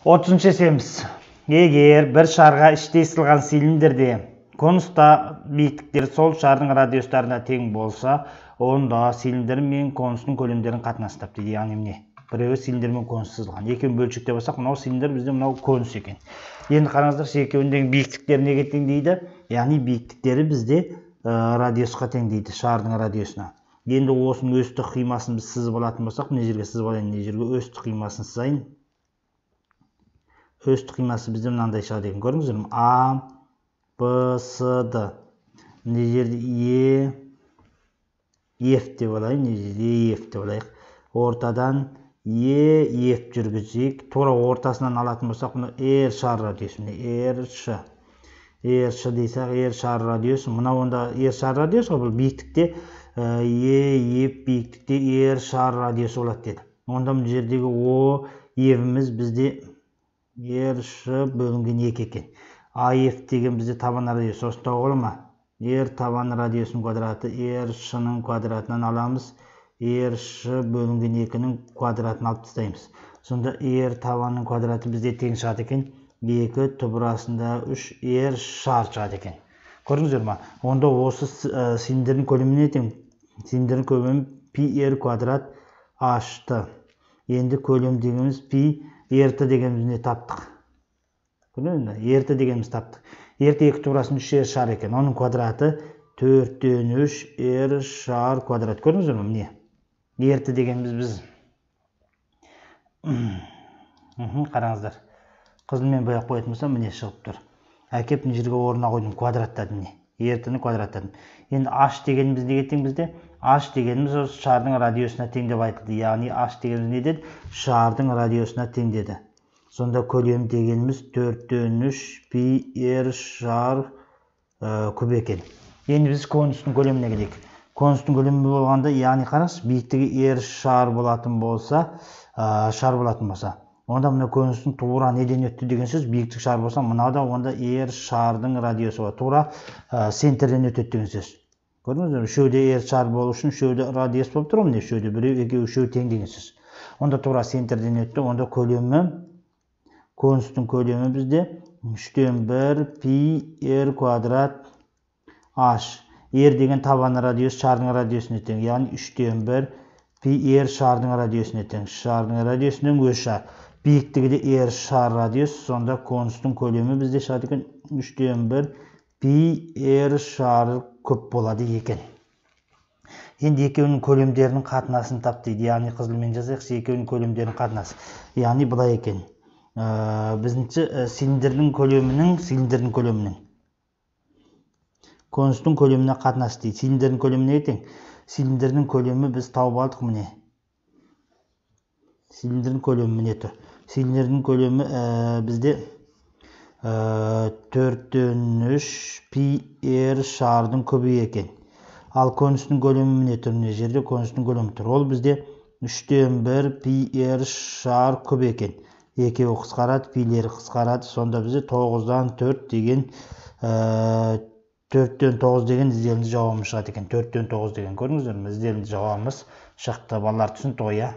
30 эсеміз. Егер бір шарға іште сызылған цилиндрде конуста биіктіктері сол шардың радиустарына тең болса, онда цилиндр мен конустың көлемдерін қатынасы тапты. Яғни міне, біреуі цилиндр мен конус сызылған. Екеуін бөлшектеп алсақ, мынау цилиндр, бізде мынау конус екен. Енді қараңыздар, екеуіндегі биіктіктері неге тең дейді? Яғни биіктіктері бізде радиусқа тең дейді, шардың радиусына. Енді осының өстік қимасын біз сызып алатын болсақ, мына жерге сызып алайын, мына жерге өстік қимасын сызайын. Өстік қимасы бізде мынандай шығады екен, көрдіңіздер ме? А, Б, С, Д. Мына жерде F деп алайын, мына жерде F деп алайық. Ортадан F жүргізейік. Тура ортасынан алатын болсақ, мұны R шар радиусы, R дейсақ, R шар радиусы. Мына онда R шар радиусы, бұл биіктікте F биіктікте R шар радиусы болады деді. Онда бұл жердегі O F'іміз бізде R бөлінген 2 екен. AF деген бізде табан радиусы. Осында оғылы ма? R табан радиусының квадраты R-шының квадратынан аламыз. R бөлінген 2-нің квадратын алып тастаймыз. Сонда R табанның квадраты бізде тең шығады екен. 2 түбірасында 3 R шар шығады екен. Көрдіңіздер ма? Онда осы цилиндрдің көлеміне тең. Цилиндрдің көлемі πr квадрат h-ты. Енді көлем дегеніміз πr-ты дегенімізіне таптық. Көрдіңіздер ме? R-ты дегеніміз таптық. R-ты 2 түбірасында 3 R шар екен. Оның квадраты 4-тен 3 R шар квадрат. Көрдіңіздер ме? Міне. R-ты дегеніміз біз. Қараңыздар. Қызылмен бояп қоятын болсам, міне шығып тұр. Әкеп мына жерге орнына қойдым, квадраттадым міне. R-тіні квадраттадым. Енді h дегеніміз неге тең бізде? H дегеніміз осы шардың радиусына тең деп айтылды. Яғни h дегеніміз не деді? Шардың радиусына тең деді. Сонда көлем дегеніміз 4-тен 3 πr шар куб екен. Енді біз конустың көлеміне келейік. Конустың көлемі болғанда, яғни қараңыз, биіктігі R шар болатын болса, онда мына конустың тура неден өтті деген сөз, биіктік шар болса, мынада онда R шардың радиусы бар. Тура центрден өтеді деген сөз. Көрдіңіздер ме? Үшеуде R шар болу үшін үшеуде радиус болып тұр ма? Үшеуде біреу, екеу, үшеу тең деген сөз. Онда тура центрден өтті. Онда көлемі, конустың көлемі бізде 3-тен 1 πr квадрат h. R деген табан радиус шардың радиусына тең. Яғни 3-тен 1 πr шардың радиусына тең. Шардың радиусының өз шар. Биіктігі де R шар радиус. Сонда конустың көлемі бізде шығады екен 3-тен 1 πr шар көп болады екен. Енді екеуінің көлемдерінің қатынасын тап дейді. Яғни қызылмен жазайық, екеуінің көлемдерінің қатынасы. Яғни бұлай екен. Біздіңше цилиндрдің көлемінің конустың көлеміне қатынасы дейді. Цилиндрдің көлеміне тең. Цилиндрдің көлемі біз тауып алдық міне. Цилиндрдің көлемі міне тұр. Цилиндрдің көлемі бізде 4-тен 3 πr шардың көбі екен. Ал конустың көлемі міне тұр. Міне жерде конустың көлемі тұр. Ол бізде 3-тен 1 πr шар көп екен. Екеуі қысқарады, пилері қысқарады. Сонда бізде 9-дан 4 деген 4-тен 9 деген ізделінді жауабымыз шығады екен. 4-тен 9 деген көрдіңіздер ме? Ізделінді жауабымыз шықты. Балалар түсінді ғой, иә?